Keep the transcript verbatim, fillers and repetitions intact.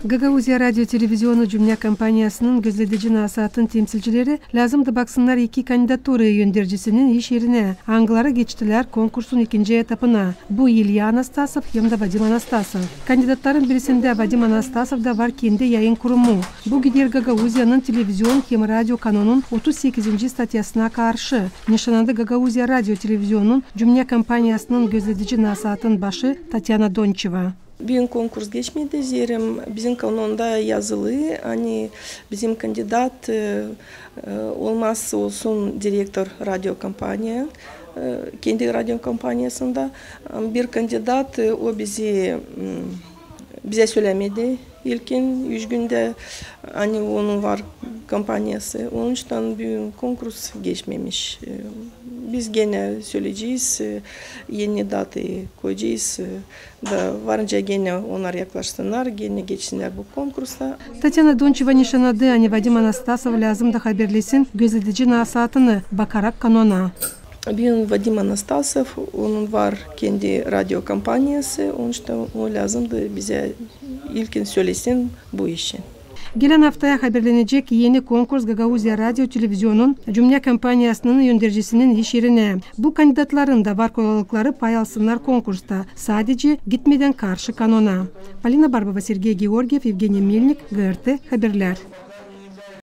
Gagauziya radio-televizionu cümnä kompaniyasının gözledici nasaatın temsilcileri lääzımdı baksınnar iki kandidaturayı öndercisinin iş erinä, angıları geçtilär konkursun ikinci etapına. Bu İlya Anastasov hem dä Vadim Anastasov. Kandidatların birisindä, Vadim Anastasovda, var kendi yayın kurumu. Bu gider Gagauziyanın televizion hem radio kanonun otuz sekizinci statyasına karşı. Nişanadı Gagauziya radio-televizionunun cümnä kompaniyasının gözledici nasaatın başı Tatyana Donçeva. Büün konkurs geçmedi, zerä bizim kanonda yazılı, ani bizim kandidat, e, e, olmazsa olsun direktor radiokompaniya, e, kendi radiokompaniyasında. Bir kandidat, e, o bizi, m, bizä sölämedi ilkin üç gündä, ani onun var kompaniyası. Onuştan büün konkurs geçmemiş. E, biz genä söleyecez, e, eni datayı koyacez, e, da varınca genä onnar yaklaşsınnar, genä geçsinnär bu konkursa. Tatyana Donçeva nişanadı, ani Vadim Anastasov lääzımdı haberlesin gözledici nasaatını, bakarak kanona. Büün Vadim Anastasov, onun var kendi radiokompaniyası, onuştan o lääzımdı bizä ilkin sölesin bu işi. Gelän aftaya haberlenecek eni konkurs Gagauziya radio-televizionunun cümnä kompaniyasının öndercisinin iş erinä. Bu kandidatların da var kolaylıkları pay alsınnar konkursta, sadecä gitmedän karşı kanona. Polina Barbova, Sergey Georgiev, Evgeniy Melnik, G R T Haberlär.